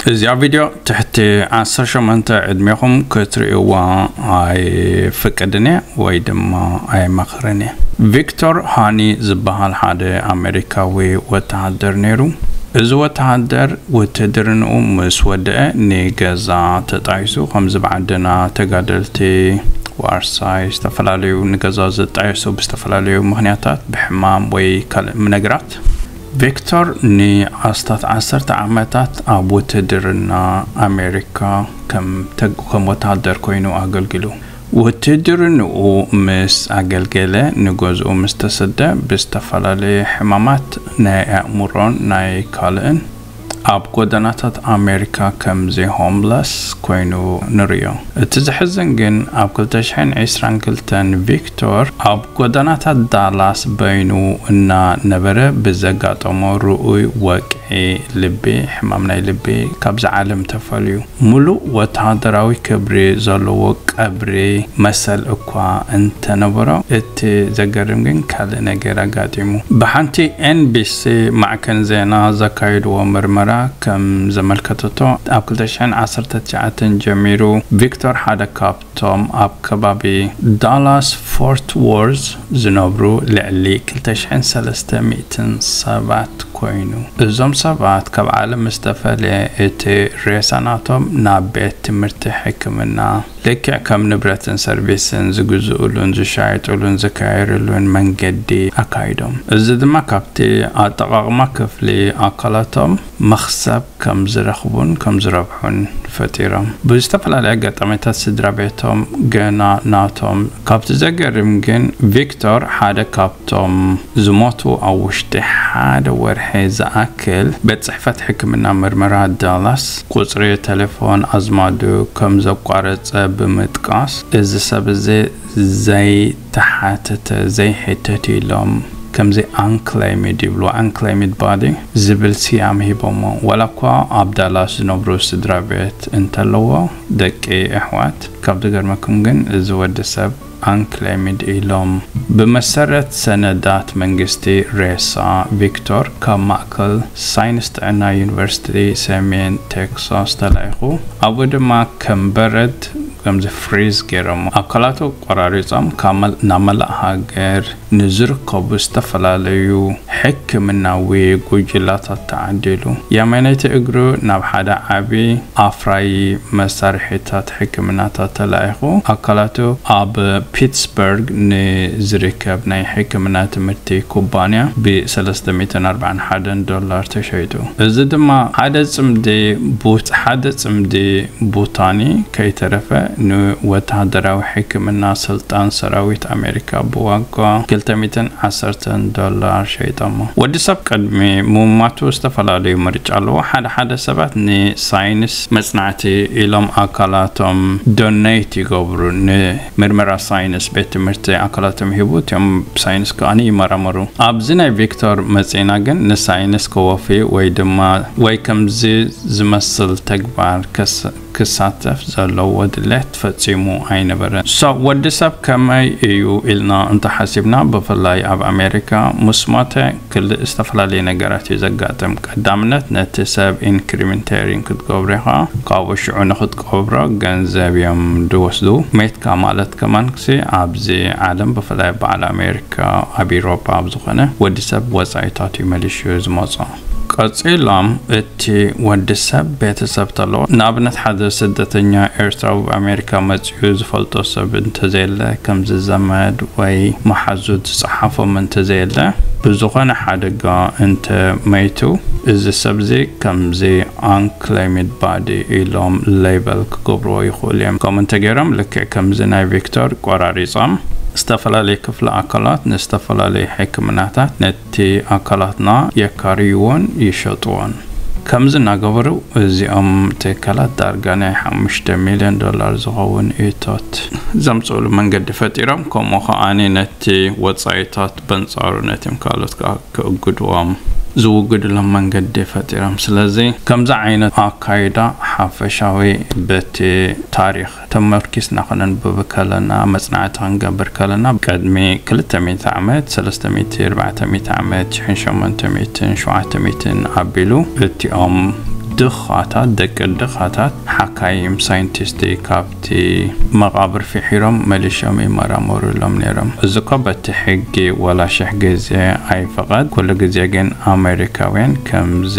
እዚኣ ቪድዮ ትሕቲ ዓሰርተ ሸሞንተ ዕድሜኹም ክትርእይዋ ኣይፍቅድን እየ ወይ ድማ ኣይመኽርን እየ። ቪክቶር ሃኒ ዝበሃል ሓደ ኣሜሪካዊ ወተሃደር ነይሩ። እዚ ወተሃደር ውትድርንኡ ምስ ወደአ ንገዛ ተጣይሱ፣ ከምዚ ብዓድና ተጋደልቲ ዋርሳይ ዝተፈላለዩ ንገዛ ዝጣየሱ ብዝተፈላለዩ ምኽንያታት ብሕማም ወይ ካልእ ነገራት። ቪክቶር ንኣስታት ዓሰርተ ዓመታት ኣብ ውትድርና ኣሜሪካ ከም ተግ-፣ ከም ወተሃደር ኮይኑ ኣገልጊሉ። ውትድርንኡ ምስ ኣገልገለ ንገዝኡ ምስ ተሰደ ብዝተፈላለየ ሕማማት ናይ ኣእምሮን ናይ ካልእን ኣብ ጎደናታት ኣሜሪካ ከምዚ ሆምለስ ኮይኑ ንርእዮ። እቲ ዘሕዝን ግን ኣብ ክልተ ሽሕን ዕስራን ክልተን ቪክቶር ኣብ ጎደናታት ዳላስ በይኑ እናነበረ ብዘጋጠሞ ርኡይ ወቅዒ ልቢ፣ ሕማም ናይ ልቢ ካብዚ ዓለም ተፈልዩ። ሙሉእ ወተሃደራዊ ክብሪ ዘለዎ ቀብሪ መሰል እኳ እንተነበሮ፣ እቲ ዘገርም ግን ካልእ ነገር ኣጋጢሙ። ብሓንቲ ኤን ቢ ሲ ማዕከን ዜና ዘካየድዎ ምርመራ ከም ዘመልከተቶ፣ ኣብ ክልተ ሽሕን ዓሰርተ ትሽዓተን ጀሚሩ ቪክቶር ሓደ ካብቶም ኣብ ከባቢ ዳላስ ፎርት ዎርዝ ዝነብሩ ልዕሊ ክልተ ሽሕን ሰለስተ ሚእትን ሰባት ኮይኑ፣ እዞም ሰባት ካብ ዓለም ዝተፈለየ እቲ ሬሳ ናቶም ናብ ቤት ትምህርቲ ሕክምና ልክዕ ከም ንብረትን ሰርቪስን ዝግዝኡሉን ዝሻየጡሉን ዝካየርሉን መንገዲ ኣካይዶም። እዚ ድማ ካብቲ ኣጠቓቕማ ክፍሊ ኣካላቶም መኽሰብ ከም ዝረኽቡን ከም ዝረብሑን ፈጢሮም። ብዝተፈላለየ ኣጋጣሚታት ስድራ ቤቶም ገና ናቶም። ካብቲ ዘገርም ግን ቪክቶር ሓደ ካብቶም ዝሞቱ ኣብ ውሽጢ ሓደ ወርሒ ዝኣክል ቤት ጽሕፈት ሕክምና ምርመራ ዳላስ ቁጽሪ ቴሌፎን ኣዝማዱ ከም ዘቋረጸ ብምጥቃስ፣ እዚ ሰብ እዚ ዘይተሓተተ፣ ዘይሕተት ኢሎም ከምዚ ኣንክሌሚድ ይብሉ፣ ኣንክሌሚድ ባዲ ዝብል ስያም ሂቦሞ። ዋላ እኳ ኣብ ዳላስ ዝነብሩ ስድራ ቤት እንተለዎ፣ ደቂ ኣሕዋት፣ ካብ ዝገርመኩም ግን እዚ ወዲ ሰብ ኣንክሌሚድ ኢሎም። ብመሰረት ሰነዳት መንግስቲ፣ ሬሳ ቪክቶር ካብ ማእከል ሳይንስ ጥዕና ዩኒቨርሲቲ ሰሜን ቴክሳስ ተላኢኹ። ኣብኡ ድማ ከም በረድ ከምዚ ፍሪዝ ገይሮሞ። ኣካላቱ ቆራሪጾም ካብ መል-፣ ናብ መላእ ሃገር ንዝርከቡ ዝተፈላለዩ ሕክምናዊ ጉጅላታት ተዓዲሉ። የማነይቲ እግሩ ናብ ሓደ ዓቢ ኣፍራዪ መሳርሒታት ሕክምናታት ተላኢኹ። ኣካላቱ ኣብ ፒትስበርግ ንዝርከብ ናይ ሕክምና ትምህርቲ ኩባንያ ብ ሰለስተ ሚእትን ኣርባዓን ሓደን ዶላር ተሸይጡ። እዚ ድማ ሓደ ጽምዲ ቡት-፣ ሓደ ጽምዲ ቡታኒ ከይተረፈ ንወተሃደራዊ ሕክምና ስልጣን ሰራዊት ኣሜሪካ ብዋጋ ክልተ ሚእትን ዓሰርተን ዶላር ሸይጠሞ። ወዲ ሰብ ቅድሚ ምማቱ ዝተፈላለዩ ምርጫ ኣለዎ። ሓደ ሓደ ሰባት ንሳይንስ መጽናዕቲ ኢሎም ኣካላቶም ዶኔት ይገብሩ። ንምርመራ ሳይንስ ቤት ትምህርቲ ኣካላቶም ሂቡ፣ እቲኦም ብሳይንስ ከኣ ይመራመሩ። ኣብዚ ናይ ቪክቶር መጺና ግን ንሳይንስ ከወፊ ወይ ድማ ወይ ከምዚ ዝመስል ተግባር ከስ-፣ ክሳተፍ ዘለዎ ድሌት ፈጺሙ ኣይነበረን። So፣ ወዲ ሰብ ከመይ እዩ ኢልና እንተሓሲብና፣ ብፍላይ ኣብ ኣሜሪካ ምስ ሞተ ክልእ ዝተፈላለየ ነገራት እዩ ዘጋጥም። ቀዳምነት፣ ነቲ ሰብ ኢንክሪሜንቴሪን ክትገብሮ ኢኻ። ካብኡ ሽዑ ንኽትቀብሮ ገንዘብ እዮም ድወስዱ። ሜትካ ማለት ከማን ክሲ ኣብዚ ዓለም፣ ብፍላይ በዓል ኣሜሪካ፣ ኣብ ኢሮጳ፣ ኣብ ዝኾነ ወዲ ሰብ ወጻኢታት እዩ መሊሹ ዝመጾ። ቀጺሎም እቲ ወዲ ሰብ ቤተሰብ ተለዎ፣ ንኣብነት ሓደ ስደተኛ ኤርትራዊ ኣብ ኣሜሪካ መጺኡ ዝፈልጦ ሰብ እንተዘየለ፣ ከምዚ ዘመድ ወይ መሓዙት ዝጸሓፎም እንተዘየለ፣ ብዝኾነ ሓደጋ እንተ መይቱ፣ እዚ ሰብ እዚ ከምዚ ኣንክሌሚድ ባዲ ኢሎም ሌበል ክገብርዎ ይኽእሉ እዮም። ከምኡ እንተገይሮም፣ ልክዕ ከምዚ ናይ ቪክቶር ቆራሪጾም፣ ዝተፈላለዩ ክፍሊ ኣካላት ንዝተፈላለዩ ሕክምናታት ነቲ ኣካላትና የካርይዎን ይሸጥዎን። ከምዚ እናገበሩ እዚኦም ትካላት ዳርጋ ናይ ሓሙሽተ ሚልዮን ዶላር ዝኸውን እቶት ዘምጽእሉ መንገዲ ፈጢሮም፣ ከምኡ ከኣ ነቲ ወጻኢታት በንጻሩ ነቲም ካልኦት ከኣ ክእግድዎም ዝውግድሎም መንገዲ ፈጢሮም። ስለዚ ከምዚ ዓይነት ኣካይዳ ሓፈሻዊ በቲ ታሪኽ ተመርኪስና ክነንብብ ከለና፣ መጽናዕቲ ክንገብር ከለና፣ ቅድሚ ክልተ ሚእቲ ዓመት፣ ሰለስተ ሚእቲ፣ ኣርባዕተ ሚእቲ ዓመት፣ ሽሕን ሸሞንተ ሚእትን ሸውዓተ ሚእትን ኣቢሉ እቲኦም ድኻታት፣ ደቂ ድኻታት ሓካይም ሳይንቲስት ካብቲ መቓብር ፍሒሮም መሊሾም ይመራመሩሎም ነይሮም። እዚ እኮ በቲ ሕጊ ወላ ሽሕ ግዜ ኣይፍቐድ። ኩሉ ግዜ ግን ኣሜሪካውያን ከምዚ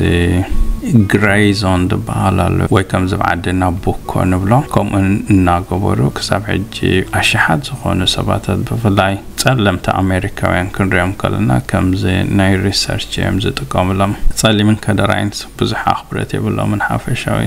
ግሬ ዞን ዝበሃል ኣሎ ወይ ከምዚ ኣብ ዓድና ቡኮ ንብሎ፣ ከምኡ እናገበሩ ክሳብ ሕጂ ኣሽሓት ዝኾኑ ሰባታት ብፍላይ ጸለምቲ ኣሜሪካውያን ክንሪኦም ከለና ከምዚ ናይ ሪሰርች እዮም ዝጥቀሙሎም። ጸሊምን ከደራይን ብዙሕ ኣኽብረት የብሎምን ሓፈሻዊ።